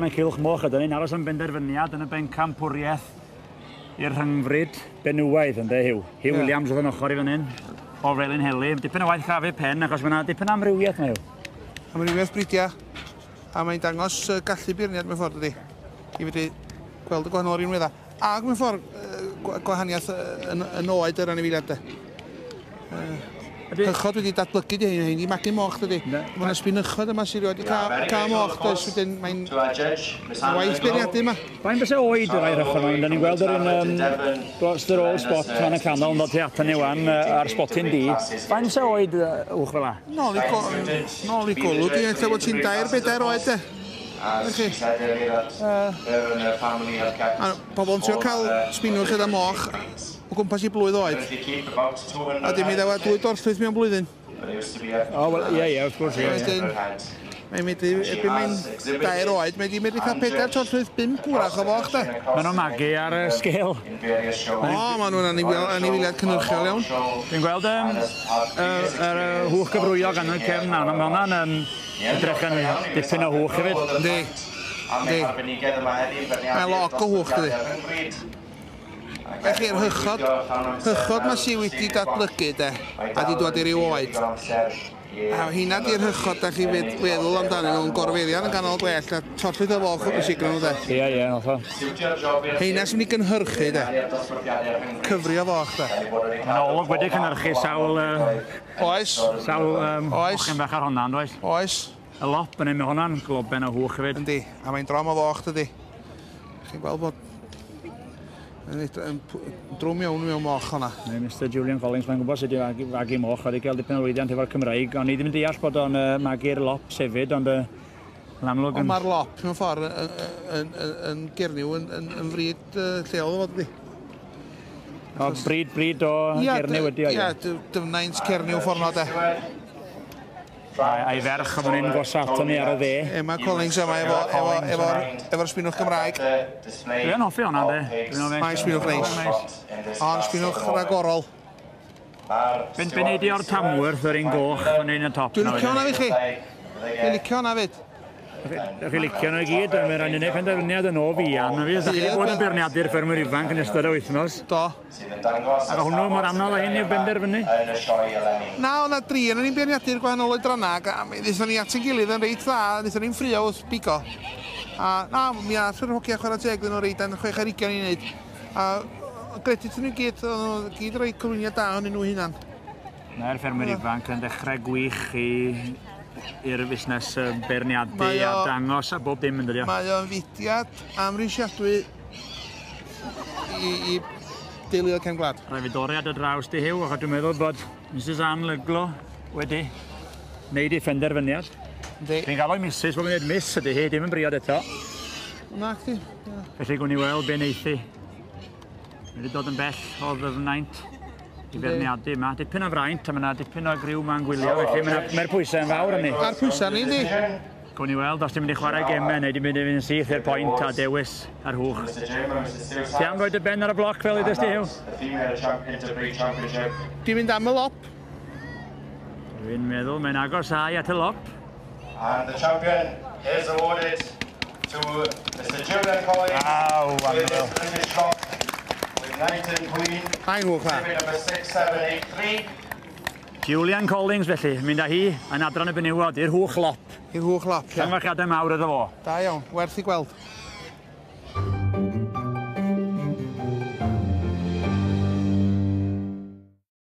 Yn cylch moch ydyn ni'n aros am benderfyniad yn y bencampwriaeth i'r rhyngfryd benywaidd, ynde, Huw? Huw yeah. Williams oedd yn ochr i fan hyn, o Felinheli. Dipyn o waith crafu pen, achos mae yna dipyn o amrywiaeth yma, Huw. Amrywiaeth bridiau, a mae'n dangos gallu beirniad mewn ffordd, ydy. I fedru gweld y gwahanol rinweddau. Ac mewn ffordd, gwahaniaeth yn, yn oed yr anifeiliaid, de. Hychod wedi datblygu di hyn, i magu moch dydy. Mae yna sbinychod yma sydd wedi cael, cael moch, does, wedyn mae'n waith beirniadu yma. Faint fysa oed y rai rhychod yma? Da ni'n gweld yr un dros yr old spot fan y canol yn dod tu atan ni wan ar spotyn D. Faint fysa oed uwch fel la? Nôl i, go, nôl i golwg i, lle bod ti'n dair, bedair oed de. Chi. Pobl yn trio cael sbinwch gyda moch o gwmpas i blwydd oed. A dim i ddewa dwy dorllwyth mewn blwyddyn. O, wel, ie, ie, wrth gwrs, ie. Wedyn, mae'n mynd i, erbyn mae'n 3 oed, mae'n mynd i cael 4 torllwyth, 5 gwrach o foch, de. Maen nhw'n magu ar y sgêl. O, maen nhw'n anifeiliaid cynhyrchiol iawn. Dwi'n gweld yr hwch gyfrwyog yn y cefn nawr, mae hwnna'n edrych yn dipyn o hwch hefyd. Yndi, yndi. Mae log o hwch, dydi. Felly'r hychod, hychod ma sy wedi datblygu de, a di dod i ryw oed. A hynna di'r hychod da chi feddwl amdanyn nhw'n gorfeirian yn ganol gwell a torllwyth o foch yn siglo nhw de. Ie, ie, hollol. Heina sy'n mynd i gynhyrchu de. Cyfri o foch de. Mae'n olwg wedi cynhyrchu sawl... Oes. Sawl mochyn bach ar honna, oes? Oes. Y lop yn ei hwnna'n globen o hwch hefyd. Yndi, a mae'n drom o foch dydi. Chi'n gweld bod yn drwm iawn mewn moch hwnna. Neu Mr Julian Collins, mae'n gwybod sut i fagu moch, wedi cael dipyn o lwyddiant efo'r Cymraeg, ond ni ddim yn deall bod o'n magu'r lops hefyd, ond yn amlwg... Ond mae'r lop mewn ffordd yn Gernyw yn fryd lleol o fod ydi. O, bryd o Gernyw ydi o, ie. Ie, dyfnaint Cernyw ffordd na de. A'i ferch o fan hyn gosa ato ni ar y dde. Emma Collins yma efo'r sbinwch Gymraeg. Dwi'n hoffi hwnna, de. Mae'n sbinwch neis. Ond sbinwch ragorol. Be neud i o'r Tamworth, yr un goch, fan hyn y top. Dwi'n licio hwnna fi chi. Dwi'n licio hwnna fyd. Ydych chi'n licio nhw i gyd, mae'n rhaid i wneud penderfyniad yn o fuan. Ydych chi wedi bod yn beirniadu'r ffermwyr ifanc yn ystod y wythnos. Do. Ac hwnnw mor anodd â hyn i'w benderfynu? Na, o'na dri yn ni'n beirniadu'r gwahanol oedrannau, ac wnaethon ni at ein gilydd yn reit dda, wnaethon ni'n ffrio wrth bigo. A na, mi all yr hogia chwarae teg ddyn nhw reit dan 6 ar 20 i wneud. A gredit nhw gyd, o'n nhw gyd rhoi cyflwyniad da o'n nhw hunan. Mae'r ffermwyr ifanc yn dechrau gwych i'r busnes beirniadu a dangos a bob dim yn dydi o. Mae o'n fudiad amhrisiadwy i deuluoedd cefn gwlad. Rhaid fi dorri ar dy draws di, Huw, achos dwi'n meddwl bod Mrs Ann Lyglo wedi wneud ei phenderfyniad. Dwi'n gael o'i Mrs, bod yn dweud Miss ydy hi, dim yn briod eto. Na, chdi. Felly gwn i weld be wneith hi. Mae wedi dod yn bell o ddyfnaint i feirniadu yma. Dipyn o fraint, a mae yna dipyn o griw ma'n gwylio, felly mae'r pwysau yn fawr arni. A'r pwysau ni, di. Gwn i weld os ti'n mynd i chwarae gemau neu ti'n mynd i fynd yn syth i'r pwynt a dewis ar hwch. Ti am roi dy ben ar y bloc fel ydys ti, Huw? Dwi'n mynd am y lop. Dwi'n meddwl mae'n agosáu at y lop. And the champion is awarded to Mr Julian Collins with his British Lop with Knight Queen. Mae'n hwch dda. Number 6783. Julian Collins felly, mynd â hi yn adran y benywod i'r hwch lop. I'r hwch lop, ie. Llongyfarchiadau mawr iddo fo. Da iawn, werth i gweld.